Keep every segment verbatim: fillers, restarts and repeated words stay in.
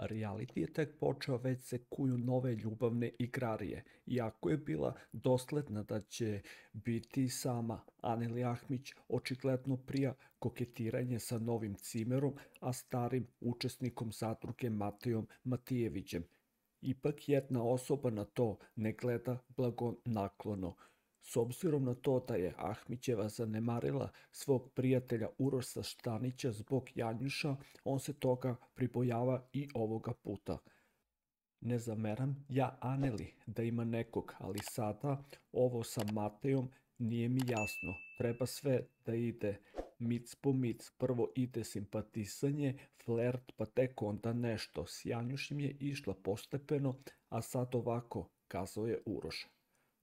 reality je tek počeo, već se kuju nove ljubavne igrarije. Iako je bila dosledna da će biti sama, Aneli Ahmić očigledno prija koketiranje sa novim cimerom, a starim učesnikom zadruge Matejom Matijevićem. Ipak jedna osoba na to ne gleda blagonaklono. S obzirom na to da je Ahmićeva zanemarila svog prijatelja Uroša Štanića zbog Janjuša, on se toga pribojava i ovoga puta. Ne zameram ja Aneli da ima nekog, ali sada ovo sa Matejom nije mi jasno. Treba sve da ide mic po mic. Prvo ide simpatisanje, flert, pa tek onda nešto. S Janjušem je išla postepeno, a sad ovako, kazao je Uroš.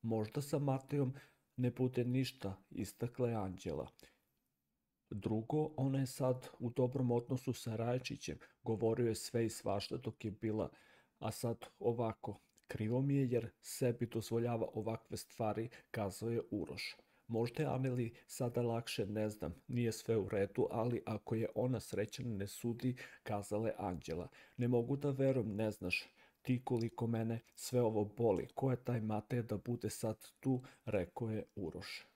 Možda sa Matejom ne bude ništa, istakla je Anđela. Drugo, ona je sad u dobrom odnosu sa Rajačićem, govorio je sve i svašta dok je bila, a sad ovako, krivo mi je jer sebi dozvoljava ovakve stvari, kazao je Uroš. Možda je Aneli sada lakše, ne znam, nije sve u redu, ali ako je ona srećna ne sudi, kazala je Anđela. Ne mogu da verujem, ne znaš ti koliko mene sve ovo boli, ko je taj Matej da bude sad tu, rekao je Uroš.